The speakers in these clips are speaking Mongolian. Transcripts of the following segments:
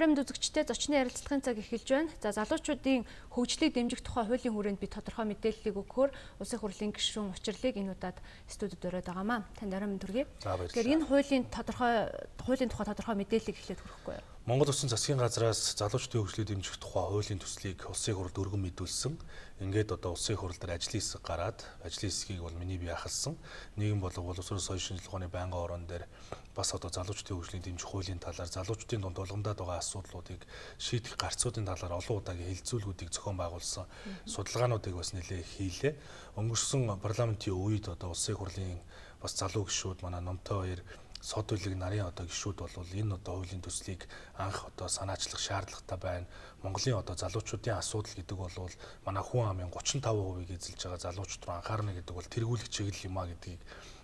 Орон үзэгчтэй зочны ярилцлагын цаг эхэлж байна. За залуучуудын хөгжлийг дэмжих тухай хуулийн хүрээнд би тодорхой мэдээллийг өгөхөөр Улсын хурлын гишүүн учрлыг энэ удаад студид өрөөд байгаамаа. Танд орой мэнд хүргэе. Тэгэхээр энэ хуулийн тухай тодорхой мэдээллийг эхлээд хүрэхгүй юу? Монгол Улсын засгийн газраас залуучдын хөгжлийг дэмжих тухай хуулийн төслийг Улсын хурлд өргөн мэдүүлсэн. Ингээд одоо Улсын хурл дээр ажлын хэсэг гараад ажлын хэсгийг бол миний бие ахалсан. Нийгэм боловсрол соёлын шинжилгээний байнгын орон дээр бас одоо залуучдын хөгжлийг дэмжих хуулийн талаар залуучдын дунд улгамдаад байгаа асуудлуудыг шийдэх гарцуудын талаар олон удаагийн хэлэлцүүлгүүдийг зохион байгуулсан судалгаануудыг бас нэлээд хийлээ. Өнгөрсөн парламентын үед одоо Улсын хурлын бас залуу гишүүд манай номтой хоёр сод үлэг нарын одоо гишүүд бол энэ одоо хуулийн төслийг анх одоо санаачлах шаардлагатай байна. Монголын одоо залуучуудын асуудал гэдэг бол манай хүн амын 35%-ийг эзэлж байгаа залуучууд руу анхаарна гэдэг бол тэргүүлэх чиглэл юм а гэдгийг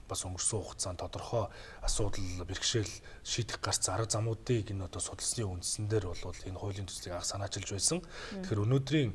бас өнгөрсөн хугацаанд тодорхой асуудал бэрхшээл шийдэх гарц арга замуудыг энэ одоо судалсны үндсэн дээр бол энэ хуулийн төслийг анх санаачилж байсан. Тэгэхээр өнөөдрийн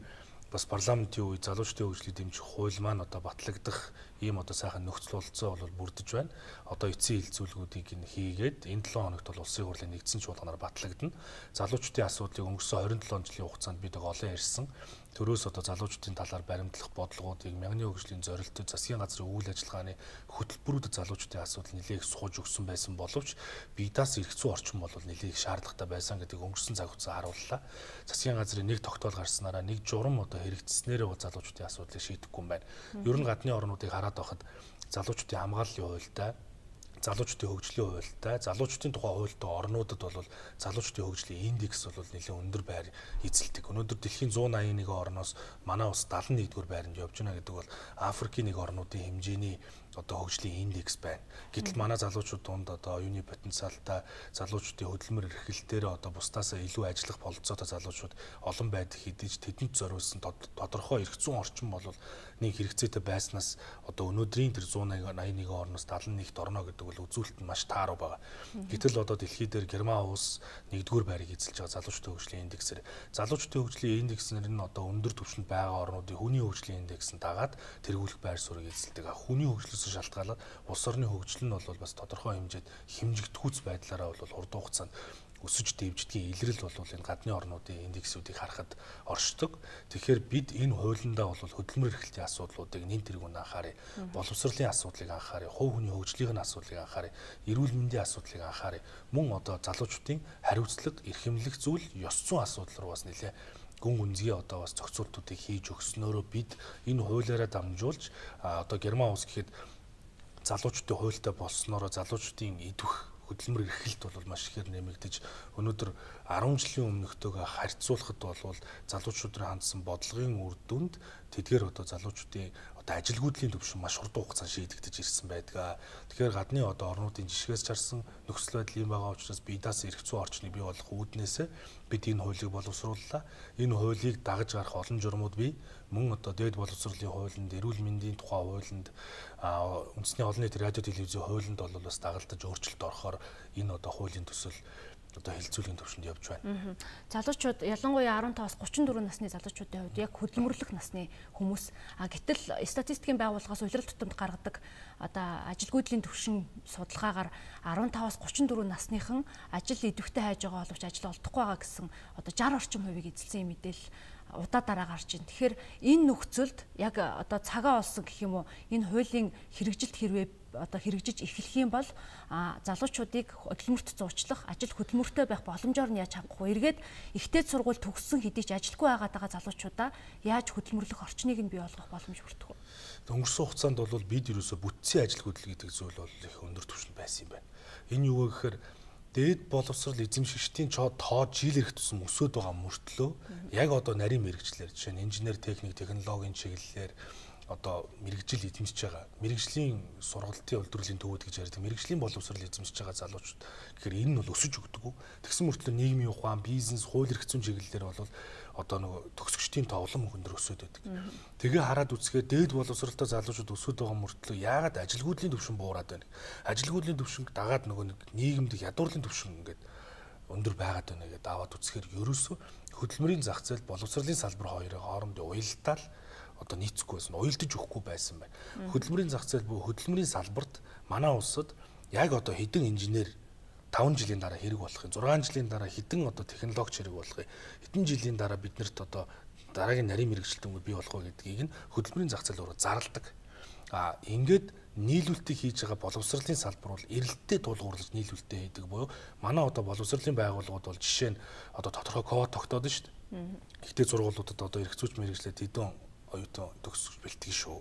бас парламентын үед залуучдын хөгжлийг дэмжих хууль маань одоо батлагдах ийм одоо сайхан нөхцөл болцоо бол бүрдэж байна. Одоо эцсийн хилцүүлгүүдийг нь хийгээд энэ 7 хоногт бол Улсын хурлын нэгдсэн чуулганаар батлагдана. Залуучдын асуудлыг өнгөрсөн 27 жилийн хугацаанд бид олон ярьсан. Төрөөс одоо залуучдын талаар баримтлах бодлогоодыг мянганы хөгжлийн зорилттой засгийн газрын үйл ажиллагааны хөтөлбөрүүдэд залуучдын асуудал нэлээд их сууж өгсөн байсан боловч бидаас ирэх зүй орчин бол нэлээд их шаардлагатай байсан гэдгийг өнгөрсөн цаг хугацаа харууллаа. Засгийн газрын нэг тогтоол гарснараа нэг журам одоо хэрэгжснээрээ залуучдын асуудлыг шийдэхгүй юм байна. Ер нь гадны орнуудыг хараад байхад залуучдын хамгааллын хуультай, залуучдын хөгжлийн хуультай, залуучдын тухай хуультай орнуудад бол залуучдын хөгжлийн индекс бол нэлээд өндөр байр эзэлдэг. Өнөөдөр дэлхийн 181 орноос манай улс 71-р байранд явж байна гэдэг бол Африкийн нэг орнуудын хэмжээний одоо хөгжлийн индекс байна. Гэтэл манай залуучууд донд одоо оюуны потенциалтай, залуучдын хөдөлмөр эрхлэлтээр одоо бусдаасаа илүү ажиллах бололцоотой залуучууд олон байдаг хэдиж тэдэнд зориулсан тодорхой эрх зүйн орчин бол нэг хэрэгцээтэй байснаас одоо өнөөдрийн тэр 181 орноос 71-т орно гэдэг бол үзүүлэлт нь маш тааруу байгаа. Гэтэл одоо дэлхий дээр Герман улс 1-р байрыг эзэлж байгаа залуучдын хөгжлийн индексээр залуучдын хөгжлийн индекснэр нь одоо өндөр түвшинд байгаа орнуудын хүний хөгжлийн индекс нь дагаад тэргүүлэх байр суурийг эзэлдэг. Хүний хөгжлөөс шалтгаалаад улс орны хөгжил нь бол бас тодорхой хэмжээд хэмжигдэхүйц байдлаараа бол урт хугацаанд өсөж дэвждгийн илрэл бол энэ гадны орнуудын индексүүдийг харахад оршдог. Тэгэхээр бид энэ хуулиндаа бол хөдөлмөр эрхлэлтийн асуудлуудыг нэн тэргүүнд анхаарыг, боловсролын асуудлыг анхаарыг, хувь хүний хөгжлийн асуудлыг анхаарыг, эрүүл мэндийн асуудлыг анхаарыг, мөн одоо залуучдын хариуцлага, эрхэмлэх зүйл, ёс зүйн асуудал руу бас нэлээ гүн гүнзгий одоо бас зохицуултуудыг хийж өгснөөрөө бид энэ хуулиараа дамжуулж одоо Герман улс гэхэд залуучдын хуультай болсноороо залуучдын идвэх хөдөлмөр эрхлэлт бол маш ихээр нэмэгдэж өнөөдөр 10 жилийн өмнөхтэйгээ харьцуулахад бол залуучуудын хандсан бодлогын үр дүнд тэдгээр одоо залуучдын одоо ажилгүйдлийн төвшин маш хурдан хугацаанд шийдэгдэж ирсэн байдаг. Тэгэхээр гадны одоо орнуудын жишгээс чарсан нөхцөл байдал юм байгаа учраас бидаас эрх зүйн орчныг бий болгох үүднээсээ бид энэ хуулийг боловсрууллаа. Энэ хуулийг дагаж гарах олон журмууд бий. Мөн одоо дээд боловсролын хуулинд, эрүүл мэндийн тухай хуулинд, үндэсний олон нийтийн радио телевизийн хуулинд бол бас дагалдаж өөрчлөлт орохоор энэ одоо хуулийн төсөл одоо хэлцүүлгийн төвшөнд явж байна. Залуучууд ялангуяа 15-аас 34 насны залуучуудын хувьд яг хөдөлмөрлөх насны хүмүүс. Гэтэл статистикийн байгууллагаас улирал тутамд гаргадаг одоо ажилгүйдлийн төвшин судалгаагаар 15-аас 34 насныхан ажил идэвхтэй хайж байгаа боловч ажил олдохгүй байгаа гэсэн одоо 60 орчим хувийг эзэлсэн юм мэдээлэл удаа дараа гарч ийн. Тэгэхээр энэ нөхцөлд яг одоо цагаа олсон гэх юм уу энэ хуулийн хэрэгжилт хэрвээ одоо хэрэгжиж эхлэх юм бол залуучуудыг хөдөлмөрт зуучлах, ажил хөдөлмөртэй байх боломжоор нь яаж хангах вэ? Эргээд ихтэй сургууль төгссөн хэдий ч ажилгүй байгаа залуучуудаа яаж хөдөлмөрлөх орчныг нь бий болгох боломж бүрдэх вэ? Өнгөрсөн хугацаанд бол бид ерөөсө бүтцийн ажил хөдлөл гэдэг зүйл бол их өндөр түвшинд байсан юм байна. Энэ юу вэ гэхээр дээд боловсрол эзэмшигчдийн тоо жил ирэх тусам өсөд байгаа мөртлөө яг одоо нарийн мэрэгчлэр жишээ нь инженер, техник, технологийн чиглэлээр одоо мэрэгжил эзэмшиж байгаа мэрэгжлийн сургалтын үйлдвэрлэлийн төвүүд гэж ярьдаг мэрэгжлийн боловсрол эзэмшиж байгаа залуучууд тэгэхээр энэ нь бол өсөж өгдөг. Тэгсэн мөртлөө нийгмийн ухаан, бизнес, хууль эрх зүйн чиглэлээр бол одоо нөгөө төгсөгчдийн тоглоом өндөр өсөд байдаг. Тэгээ хараад үзэхээр дээд боловсролтой залуучууд өсөд байгаа мөртлөө яагаад ажилгүйдлийн төвшин буураад байна? Ажилгүйдлийн төвшинг дагаад нөгөө нэг нийгэмд ядуурлын төвшин ингээд өндөр байгаад байна гэдээ аваад үзэхээр ерөөсөө хөдөлмөрийн зах зээл, боловсролын салбар хоёрын хоорондын уялдаа л одоо нийцэхгүй байсан, уялдаж өгөхгүй байсан байна. Хөдөлмөрийн зах зээл буюу хөдөлмөрийн салбарт манай улсад яг одоо хэдэн инженер 5 жилийн дараа хэрэг болох юм. 6 жилийн дараа хэдэн одоо технологич хэрэг болох юм. Хэдэн жилийн дараа биднэрт одоо дараагийн нарийн мэрэгчлэлтүүд бий болох вэ гэдгийг нь хөдөлмөрийн зах зээл рүү зарладаг. Ингээд нийлүүлэлтийг хийж байгаа боловсролын салбар бол эрэлттэй тулгуурлаж нийлүүлэлтээ хийдэг буюу манай одоо боловсролын байгууллагууд бол жишээ нь одоо тодорхой код тогтоод нь шүү дээ. Гэхдээ сургуулиудад одоо эрх зүйч мэрэгчлээд хэдэн оюутан төгсөж бэлтгэн шүү.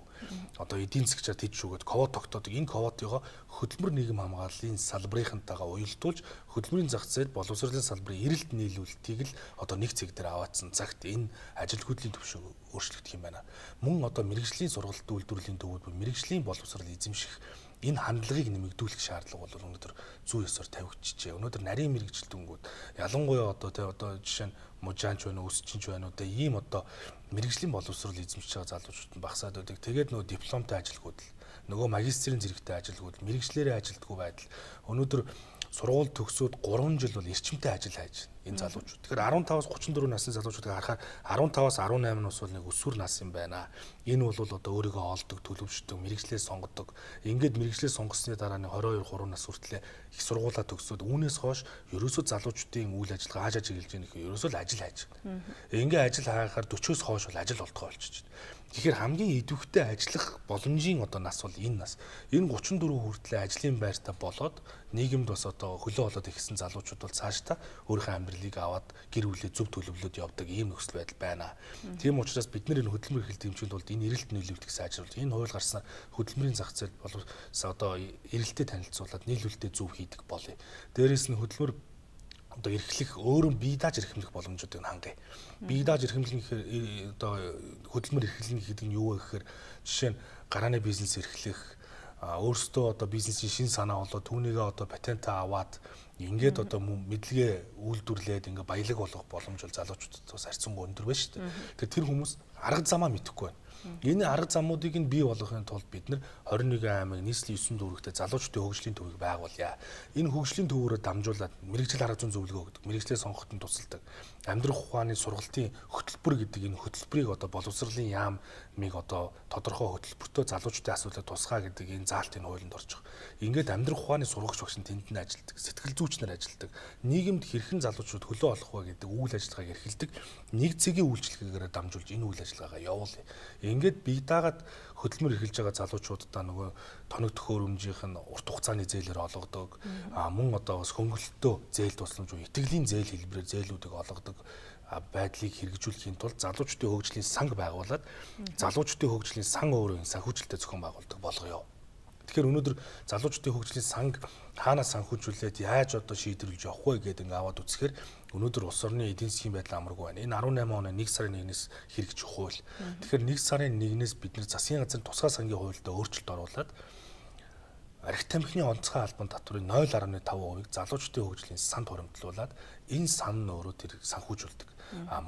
Одоо эдийн засгчаар тэд шүүгээд код тогтоодог. Энэ кодыгоо хөдөлмөр нийгэм хамгааллын салбарынхантайгаа уялдуулж хөдөлмөрийн зах зээл боловсролын салбарын эрэлт нийлүүлэлтийг л одоо нэг цэг дээр аваадсан цагт энэ ажил хөдлийн төвшөө өөрчлөгдөх юм байна. Мөн одоо мэрэгжлийн сургалт үйлдвэрлэлийн төвүүд мэрэгжлийн боловсрол эзэмших энэ хандлагыг нэмэгдүүлэх шаардлага бол өнөөдөр зүй ёсоор тавигдчихжээ. Өнөөдөр нарийн мэрэгчлэлтүүнгүүд ялангуяа одоо жишээ нь мужаанч байна уу, өсчинч байна уу, ийм одоо мэрэгжлийн боловсрол эзэмшиж байгаа залуучууд нь багасаад байдаг. Тэгээд нөгөө дипломтой ажилгууд л нөгөө магистрийн зэрэгтэй ажилгууд мэрэгчлэрээ ажилддаг байдал өнөөдөр сургууль төгсөөд 3 жил бол эрчимтэй ажил хайж байна энэ залуучууд. Тэгэхээр 15-аас 34 насны залуучуудыг харахаар 15-аас 18 нас бол нэг өсвөр нас юм байна. Энэ бол одоо өөрийгөө олдог, төлөвшдөг, мэрэгчлээ сонгодог. Ингээд мэрэгчлээ сонгосны дараа нэг 22 3 нас хүртлээр их сургуулаа төгсөөд үүнээс хойш ерөөсөө залуучдын үйл ажиллагаа хааж ажиллаж байгаа нөхөө ерөөсөө л ажил хайж байна. Ингээд ажил хайхаар 40-оос хойш бол ажил олдгоо болчихж байна. Тэгэхээр хамгийн идэвхтэй ажиллах боломжийн одоо нас бол энэ нас. Энэ 34 хүртлээр ажлын байртаа болоод нийгэмд бас одоо хөлөө болоод ихсэн залуучууд бол цаашдаа өөрийнхөө амьдралыг аваад гэр бүлээ зөв төлөвлөлөд явдаг ийм нөхцөл байдал байна. Тийм учраас бид нэр энэ хөдөлмөр эрхлэлт дэмжинд бол энэ эрэлт нийлүүлэлтийг сайжруулж энэ хууль гарснаар хөдөлмөрийн зах зээл болов одоо эрэлтэд танилцуулаад нийлүүлэлтэд зөв хийдэг болъё. Дээрээс нь хөдөлмөр одоо эрхлэх өөрөө бие дааж эрхэмлэх боломжуудыг хангая. Бие дааж эрхэмлэх одоо хөдөлмөр эрхлэх гэдэг нь юу вэ гэхээр жишээ нь гарааны бизнес эрхлэх өөрсдөө одоо бизнесийн шин санаа болоод түүнийгээ одоо патентаа аваад ингээд одоо мэдлэгээ үйлдвэрлээд ингээ баялаг болох боломж бол залуучуудад бас харьцангуй өндөр байна шүү дээ. Тэгэхээр тэр хүмүүс арга замаа мэдэхгүй байна. Энэ арга замуудыг нь бий болгохын тулд бид нар 21 аймаг нийслэлийн 9 дүүрэгтээ залуучдын хөгжлийн төвийг байгуулъя. Энэ хөгжлийн төвөөрөө дамжуулаад мэрэгжил арга зүйн зөвлөгөө өгдөг, мэрэгчлээ сонгоход нь тусалдаг. Амьдрах ухааны сургалтын хөтөлбөр гэдэг энэ хөтөлбөрийг одоо боловсролын яамыг одоо тодорхой хөтөлбөртөө залуучдын асуудлыг тусгаа гэдэг энэ заалтын хуулинд орчих. Ингээд амьдрах ухааны сургагч багш нь тэнд нь ажилладаг, сэтгэл зүйч нар ажилладаг. Нийгэмд хэрхэн залуучууд хөлөө олох вэ гэдэг үйл ажиллагааг эрхэлдэг. Нэг цэгийн үйлчлэгээр дамжуулж энэ үйл ажиллагаагаа явуулъя. Ингээд бие даагаад хөдөлмөр эрхэлж байгаа залуучуудаа нөгөө тоног төхөөрөмжийнх нь урт хугацааны зээлээр олгодог. Мөн одоо бас хөнгөлөлтөө зээл тусламж уу итгэлийн зээл хэлбэрээр зээлүүдийг олгодог байдлыг хэрэгжүүлэхийн тулд залуучдын хөгжлийн санг байгуулад залуучдын хөгжлийн сан өөрөө санхүүжилттэй зохион байгуулдаг болгоё. Тэгэхээр өнөөдөр залуучдын хөгжлийн санг хаанаас санхүүжүүлээд яаж одоо шийдвэрлэж явах вэ гэдэг ингээ аваад үзэхээр өнөөдөр улс орны эдийн засгийн байдал амаргүй байна. Энэ 18 оны 1 сарын 1-ээс хэрэгжих хууль. Тэгэхээр 1 сарын 1-ээс бид нэр засгийн газрын тусгай сангийн хуульд өөрчлөлт оруулад архи тамхины онцгой албан татврын 0.5%-ийг залуучдын хөгжлийн санд хуримтлуулад энэ сан нь өөрөө тэр санхүүжүүлдэг.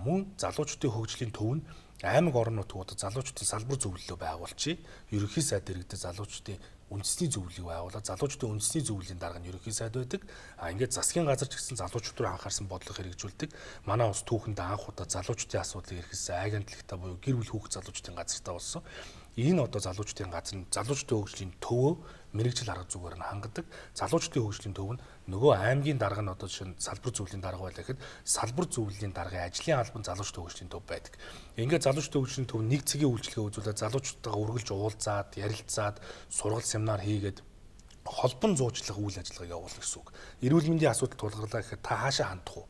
Мөн залуучдын хөгжлийн төв нь аймаг орон нутгуудад залуучдын салбар зөвлөлөө байгуулчих. Ерөнхий сайд дэргэдэд залуучдын үндэсний зөвлөлийг байгуулаад залуучдын үндэсний зөвлөлийн дарга нь ерөнхий сайд байдаг. Ингээд засгийн газар ч гэсэн залуучууд руу анхаарсан бодлого хэрэгжүүлдэг. Манай улс түүхэнд анх удаа залуучдын асуудлыг эрхэлсэн агентлагтай буюу гэр бүл хүүхэд залуучдын газартаа болсон. Энэ одоо залуучдын газар нь залуучдын хөгжлийн төвөө мэрэгжил арга зүгээр нь хангадаг. Залуучдын хөгжлийн төв нь нөгөө аймгийн дарга нь одоо жишээ нь салбар зөвлөлийн дарга байлаа гэхэд салбар зөвлөлийн даргын ажлын албан залуучдын хөгжлийн төв байдаг. Ингээд залуучдын хөгжлийн төв нэг цэгийн үйлчлэгээ үзүүлээд залуучуудтайгаа үргэлж уулзаад, ярилцаад, сургалт семинар хийгээд холбон зуучлах үйл ажиллагааг явуулах гэсэн үг. Эрүүл мэндийн асуудал тулгарлаа гэхэд та хаашаа хандах вэ?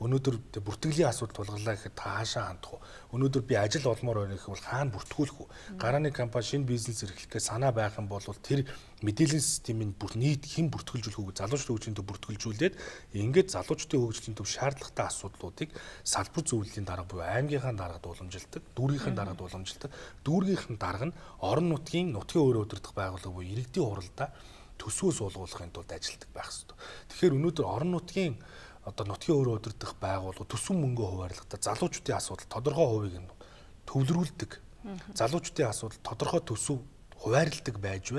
Өнөөдөр бүртгэлийн асуудал тулгарлаа гэхэд та хаашаа хандах вэ? Өнөөдөр би ажил олмоор байна гэвэл хаана бүртгүүлэх вэ? Гарааны компани шинэ бизнес эрхлэхээ санаа байх юм бол тэр мэдээллийн системийн бүр нийт хэн бүртгэлжүүлэх вэ? Залуучдын хөгжлийн төв бүртгэлжүүлээд ингээд залуучдын хөгжлийн төв шаардлагатай асуудлуудыг салбар зөвлөлийн дарга буюу аймгийнхаа даргад уламжилдаг, дүүргийнхаа даргад уламжилдаг. Дүүргийнхэн дарга нь орон нутгийн өөрөө удирдах байгууллага буюу иргэдийн хуралдаа төсвөө суулгуулахын тулд ажилладаг байх ёстой. Тэгэхээр өнөөдөр орон нутгийн одоо нутгийн өөрөө удирдах байгууллага төсөв мөнгө хуваарлахдаа залуучдын асуудал тодорхой хувийг нь төвлөрүүлдэг. Залуучдын асуудал тодорхой төсөв хуваарлдаг байж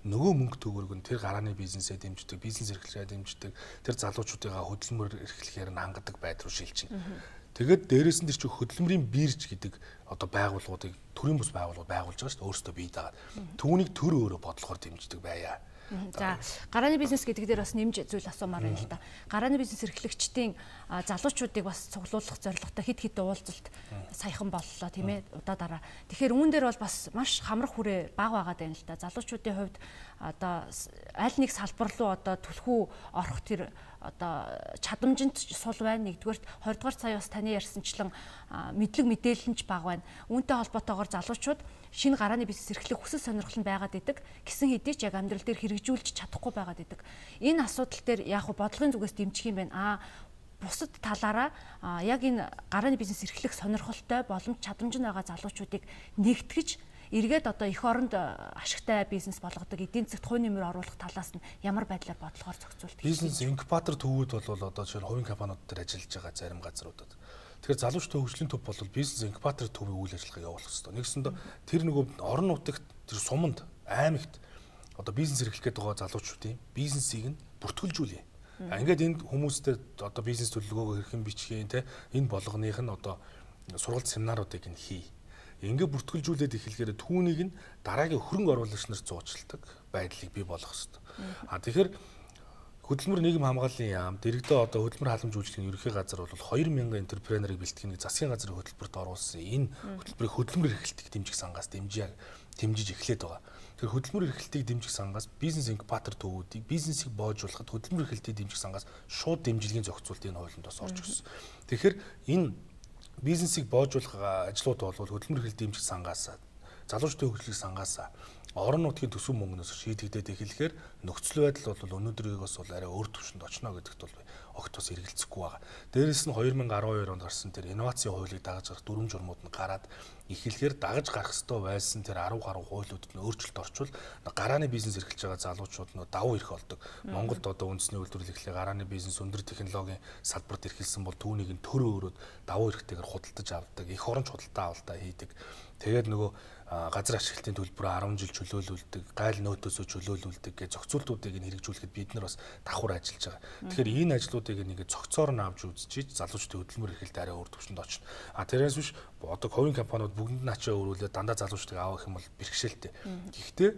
нөгөө мөнгө төгөөрөг нь тэр гарааны бизнесээ дэмждэг, бизнес эрхлэлээ дэмждэг, тэр залуучуудыгаа хөдөлмөр эрхлэхээр нь хангадаг байдал руу шилжинэ. Тэгээд дээрээс нь тэр чинь хөдөлмөрийн бирж гэдэг одоо байгууллагуудыг төрийн бус байгууллагууд байгуулж байгаа шүү дээ өөрсдөө бие даагаад. Түүнийг төр өөрөө бодлохоор дэмждэг байя. За гарааны бизнес гэдэг дээр бас нэмж зүйл асуумаар байна л да. Гарааны бизнес эрхлэгчдийн залуучуудыг бас цуглуулах зорилготой хэд уулзалт саяхан боллоо тийм ээ удаа дараа. Тэгэхээр үүн дээр бол бас маш хамрах хүрээ бага байгаад байна л да. Залуучуудын хувьд одоо аль нэг салбар руу одоо түлхүү орох тэр одоо чадамжинд сул байна. Нэгдүгээрт 20 дугаар сая бас таны ярьсанчлан мэдлэг мэдээлэл нь ч бага байна. Үүнтэй холбоотойгоор залуучууд шинэ гарааны бизнес эрхлэх хүсэл сонирхол нь байгаад идэг. Гэсэн хэдий ч яг амьдрал дээр хэрэгжүүлж чадахгүй байгаад идэг. Энэ асуудал дээр яг бодлогын зүгээс дэмжих юм байна. Бусад талаараа яг энэ гарааны бизнес эрхлэх сонирхолтой боломж чадамж нь байгаа залуучуудыг нэгтгэж эргээд одоо эх оронд ашигтай бизнес болгодог эдийн засагт хувь нэмэр оруулах талаас нь ямар байдлаар бодлогоор зохицуулт бизнес инкубатор төвүүд бол одоо жишээ нь хувийн компаниуд дээр ажиллаж байгаа зарим газруудад. Тэгэхээр залуучдын хөгжлийн төв бол бизнес инкубатор төвийн үйл ажиллагааг явуулах хэрэгтэй. Нэгсэндээ тэр нөгөө орон нутагт тэр суманд аймагт одоо бизнес эрхлэх гээд байгаа залуучуудын бизнесийг нь бүртгүүлжүүлье. Ингээд энд хүмүүстэй одоо бизнес төлөвлөгөөгөө хэрхэн бичих юм те энэ болгоных нь одоо сургалт семинаруудыг нь хий. Ингээ бүртгүүлжүүлээд эхлэхээр түүнийг нь дараагийн хөрөнгө оруулагч нарт зуучилдаг байдлыг бий болгох хэрэгтэй. Тэгэхээр хөдөлмөр нийгэм хамгааллын яам дэрэгдээ одоо хөдөлмөр халамж үйлчлэгийн ерөнхий газар бол 2000 энтерпренерыг бэлтгэх нэг засгийн газрын хөтөлбөрт оруулсан. Энэ хөтөлбөрийг хөдөлмөр эрхлэлтийг дэмжих сангаас дэмжиж эхлээд байгаа. Тэгэхээр хөдөлмөр эрхлэлтийг дэмжих сангаас бизнес инкубатор төвүүдийг бизнесийг боожуулахад хөдөлмөр эрхлэлтийг дэмжих сангаас шууд дэмжлэгийн зохицуулт энэ хуулинд бас орж ирсэн. Тэгэхээр энэ бизнесийг боожуулах ажлууд бол хөдөлмөр эрхлэлт дэмжих сангаас залуучдын хөгжлийн сангаас орон нутгийн төсөв мөнгнөөс шийдэгдээд эхлэхээр нөхцөл байдал бол өнөөдрийгээс бол арай өөр түвшинд очно гэдэгт бол огт бас эргэлзэхгүй байгаа. Дээрээс нь 2012 онд гарсан тэр инновацийн хуулийг дагаж гарах дүрм журмууд нь гараад эхлэхээр дагаж гарах ёстой байсан тэр 10 гаруй хуулиудад нь өөрчлөлт орчвол гарааны бизнес эрхэлж байгаа залуучууд нь давуу эрх олдог. Монголд одоо үндэсний үйлдвэрлэл эхлээ гарааны бизнес өндөр технологийн салбарт эрхэлсэн бол түүнийг нь төр өөрөд давуу эрхтэйгээр худалдаж авдаг. Эх оронч худалдаа авалтаа хийдэг. Тэгээд нөгөө газар ашиглалтын төлбөрөөр 10 жил чөлөөлүүлдэг, гайл нөөтөөсөө чөлөөлүүлдэг гэж зохицуултуудыг нь хэрэгжүүлэхэд бид нар бас давхар ажиллаж байгаа. Тэгэхээр энэ ажлуудыг нэг зохицоор нь авч үзчихэж залуучдын хөдөлмөр эрхлэлт арай өөр түвшинд очно. Тэрээс биш одоо хувийн компаниуд бүгдэнд нь ачаа өрүүлээд дандаа залуучдыг авах юм бол бэрхшээлтэй. Гэхдээ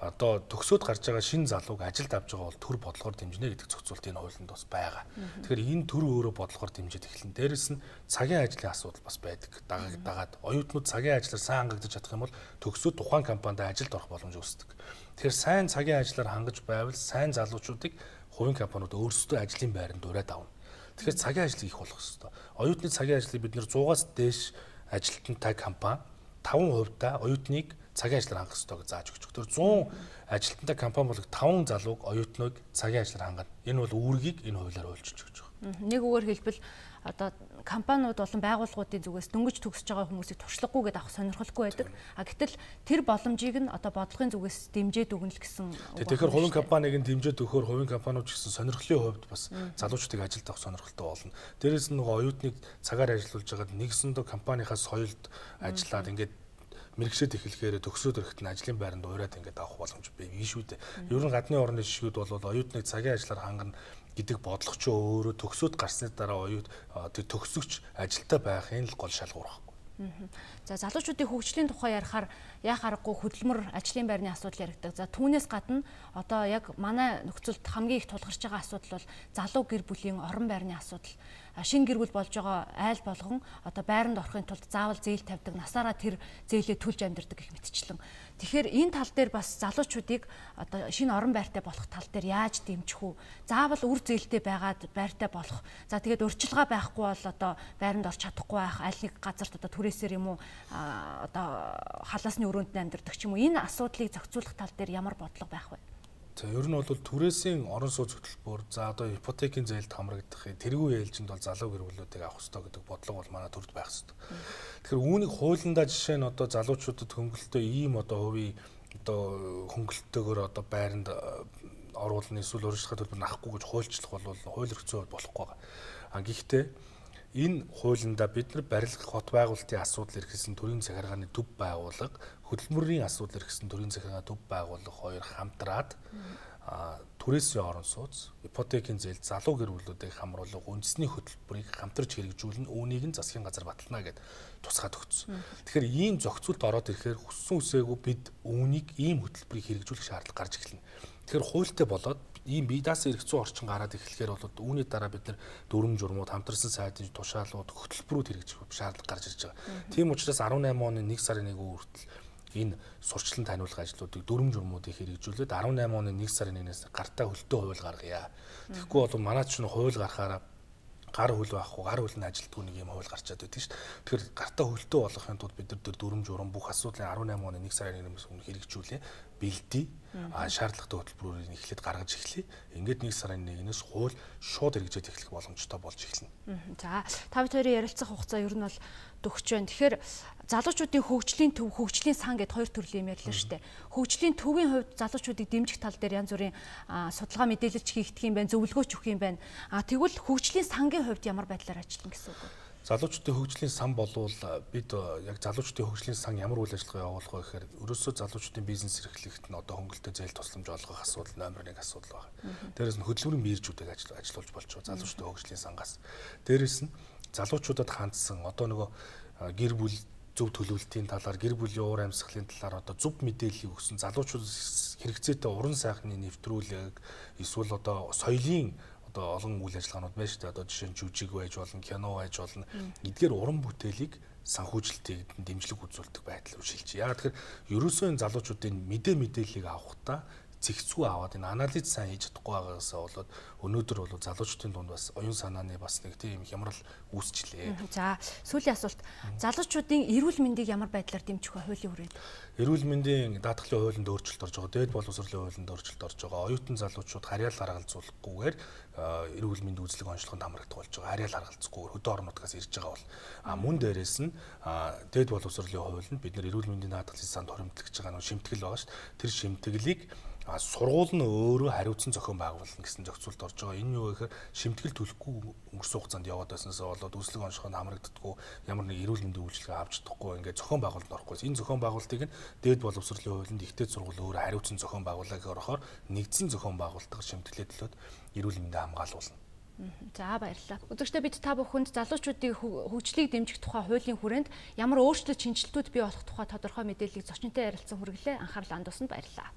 одоо төгсөөд гарч байгаа шинэ залууг ажилд авч байгаа бол төр бодлогоор дэмжинэ гэдэг зохицуулт энэ хуулинд бас байгаа. Тэгэхээр энэ төр өөрөө бодлогоор дэмжиж эхэлнэ. Дээрэс нь цагийн ажлын асуудал бас байдаг. Дагаад оюутнууд цагийн ажлаар сайн хангагдаж чадах юм бол төгсөөд тухайн компанид ажилд орох боломж үүсдэг. Тэгэхээр сайн цагийн ажлаар хангаж байвал сайн залуучуудыг хувийн компаниуд өөрсдөө ажлын байранд ураад авна. Тэгэхээр цагийн ажлыг их болгох хэрэгтэй. Оюутны цагийн ажлыг бид нэр 100-аас дээш ажилтнтай компани 5% та оюутныг цагийн ажлаар хангах ёстой гэж зааж өгч. Тэр 100 ажилтнтай компани бол 5 залууг оюутныг цагийн ажлаар хангана. Энэ бол үүргийг энэ хуулиар хуульчилж өгч байгаа. Нэг үгээр хэлбэл одоо компаниуд болон байгууллагуудын зүгээс дөнгөж төгсөж байгаа хүмүүсийг туршлагагүйгээд авах сонирхолгүй байдаг. Гэтэл тэр боломжийг нь одоо бодлогын зүгээс дэмжиж өгнө л гэсэн үг. Тэгэхээр хувийн компаниг нь дэмжиж өгөхөөр хувийн компаниуд ч гэсэн сонирхлын хувьд бас залуучдыг ажилд авах сонирхолтой болно. Дээрээс нь нөгөө оюутныг цагаар ажиллуулж байгаад нэгсэндээ компанийнхаа соёлд ажиллаад ингээд мэрэгшээд эхлэхээр төгсөөд ирэхэд нь ажлын байранд ураад ингээд авах боломж бий шүү дээ. Ер нь гадны орны жишгүүд бол оюутныг цагийн ажлаар хангана гэдэг бодлого ч өөрөө төгсөөд гарсны дараа тэр төгсөгч ажилтаа байхын л гол шалгуур байхгүй. За залуучуудын хөгжлийн тухай ярихаар яа харахгүй хөдөлмөр ажлын байрны асуудал яригдаг. За түүнээс гадна одоо яг манай нөхцөлд хамгийн их тулгарч байгаа асуудал бол залуу гэр бүлийн орон байрны асуудал. Шинэ гэр бүл болж байгаа айл болгон одоо байранд орохын тулд заавал зээл тавьдаг, насаараа тэр зээлээ төлж амьдардаг гэх мэтчлэн. Тэгэхээр энэ тал дээр бас залуучуудыг одоо шинэ орон байртай болох тал дээр яаж дэмжих үү? Заавал үр зээлтэй байгаад байртай болох. За тэгээд урьдчилгаа байхгүй бол одоо байранд орч чадахгүй байх, аль нэг газарт одоо түрээсээр юм уу одоо халаасны өрөөнд амьдардаг ч юм уу. Энэ асуудлыг зохицуулах тал дээр ямар бодлого байх вэ? За ер нь бол түрээсийн орон сууц хөтөлбөр за одоо ипотекийн зээлд хамрагдах тэргүй ээлжинд бол залуу гэр бүлүүдийг авах ёстой гэдэг бодлого бол манай төрд байх ёстой. Тэгэхээр үүнийг хуулиндаа жишээ нь одоо залуучуудад хөнгөлөлтөө ийм одоо хувийн одоо хөнгөлөлтөөр одоо байранд оруулна эсвэл урьдчилгаа төлбөр нахгүй гэж хуульчлах бол хууль эрхцээ болохгүй байгаа. Гэхдээ энэ хуулиндаа бид нар барилга хот байгуулалтын асуудал эрхэлсэн төрийн захиргааны төв байгууллага хөдөлмөрийн асуудал эрхэлсэн төрийн захиргааны төв байгууллага хоёр хамтраад түрээсийн орон сууц ипотекийн зээл залуу гэр бүлүүдийг хамруулах үндэсний хөтөлбөрийг хамтарч хэрэгжүүлнэ үүнийг нь засгийн газар батална гэд тусгаад өгсөн. Тэгэхээр ийм зохицуулт ороод ирэхээр хүссэн үсээгүй бид үүнийг ийм хөтөлбөрийг хэрэгжүүлэх шаардлага гарч эхэлнэ. Тэгэхээр хуультай болоод ийм бие даасан эрх зүйн орчин гараад эхлэхээр бол үүний дараа бид нар дүрм журмууд, хамтарсан сайдын тушаалууд, хөтөлбөрүүд хэрэгжих шаардлага гарч ирж байгаа. Тийм учраас 18 оны 1 сарын 1 хүртэл энэ сурчлан таниулах ажлуудыг дүрм журмуудыг хэрэгжүүлээд 18 оны 1 сарын 1-ээс гартаа хөлтөө хууль гаргая. Тэгэхгүй бол манай чинь хууль гаргахаараа гар хөл байхгүй, гар хөл нь ажилтгүй нэг юм хууль гарчаад байдаг шүү дээ. Тэгэхээр гартаа хөлтөө болгохын тулд бид нар дүрм журам бүх асуудлыг 18 оны 1 сарын 1-ээс өмнө хэрэгжүүлээ. Бэлдээ. Шаардлагатай хөтөлбөрүүдийг эхлээд гаргаж эхлэе. Ингээд 1 сарын 1-ээс хууль шууд хэрэгжээд эхлэх боломжтой болж эхэлнэ. За, та бүхэн ярилцах хугацаа ер нь бол төгсөж байна. Тэгэхээр залуучуудын хөгжлийн төв, хөгжлийн сан гэд хоёр төрлийн юм ярьлаа шүү дээ. Хөгжлийн төвийн хувьд залуучуудыг дэмжих тал дээр янз бүрийн судалгаа мэдээлэлч хийгдэх юм байна, зөвлөгөөч өгөх юм байна. Тэгвэл хөгжлийн сангийн хувьд ямар байдлаар ажиллана гэсэн үг вэ? Залуучуудын хөгжлийн сан болвол бид яг залуучуудын хөгжлийн сан ямар үйл ажиллагаа явуулах вэ гэхээр ерөөсөө залуучуудын бизнес эрхлэхэд нь одоо хөнгөлөлтөй зээл тусламж олгох асуудал номер 1 асуудал байна. Дээрээс нь хөдөлмөрийн мэржүүдийг ажиллуулж болж байгаа залуучуудын хөгжлийн сангаас. Дээрээс нь залуучуудад хандсан одоо нөгөө гэр бүл зөв төлөвлөлтийн талаар, гэр бүлийн уур амьсгалын талаар одоо зөв мэдээллийг өгсөн залуучууд хэрэгцээтэй уран сайхны нэвтрүүлэг эсвэл одоо соёлын одоо олон үйл ажиллагаанууд байна шүү дээ. Одоо жишээ нь жүжиг байж болно, кино байж болно. Эдгээр уран бүтээлийг санхүүжилтийг дэмжлэг үзүүлдэг байдал үржилж. Яг тэгэхээр ерөөсөө энэ залуучуудын мэдээллийг авахдаа зэгцгүй аваад энэ анализ сайн хийж чадахгүй байгаасаа болоод өнөөдөр бол залуучдын дунд бас оюун санааны бас нэг тийм хямрал үүсчлээ. За, сүүлийн асуулт. Залуучуудын эрүүл мэндийг ямар байдлаар дэмжих вэ хуулийн хүрээнд? Эрүүл мэндийн даатгалын хуулинд өөрчлөлт орж байгаа, дээд боловсролын хуулинд өөрчлөлт орж байгаа. Оюутан залуучууд харьяал гаргалзуулахгүйгээр эрүүл мэндийн үзлэг онцлогонд хамрагдах болж байгаа. Харьяал гаргалзахгүйгээр хөдөө орнуудаас ирж байгаа бол мөн дээрээс нь дээд боловсролын хуулинд бид нар эрүүл мэндийн даатгалын санд хоримтлагдж байгаа нэг шимтгэл байгаа шүү дээ. Тэр шимтгэлийг сургууль нь өөрөө хариуцсан зохион байгуулна гэсэн зохицуулт орж байгаа. Энэ юу гэхээр шимтгэл төлөхгүй өнгөрсөн хугацаанд яваад байснаас болоод үзлэг онцлогонд хамрагддаггүй, ямар нэг эрүүл мэндийн үйлчилгээ авч чадахгүй ингээд зохион байгуулалт орохгүй. Энэ зохион байгуулалтыг нь дээд боловсролын хуулинд ихтэй сургууль өөрөө хариуцсан зохион байгуулалт орохоор нэгдсэн зохион байгуулалтаар шимтгэлээ төлөөд эрүүл мэндийг хамгаалуулна. За, баярлалаа. Үзэгчдээ бид та бүхэнд залуучуудын хөгжлийг дэмжих тухай хуулийн хүрээнд ямар өөрчлөлт шинжилтүүд бий болох тухай тодорхой мэдээллийг зочинтой ярилцсан хүргэлээ. Анхаарлаа хандуулсанд баярлалаа.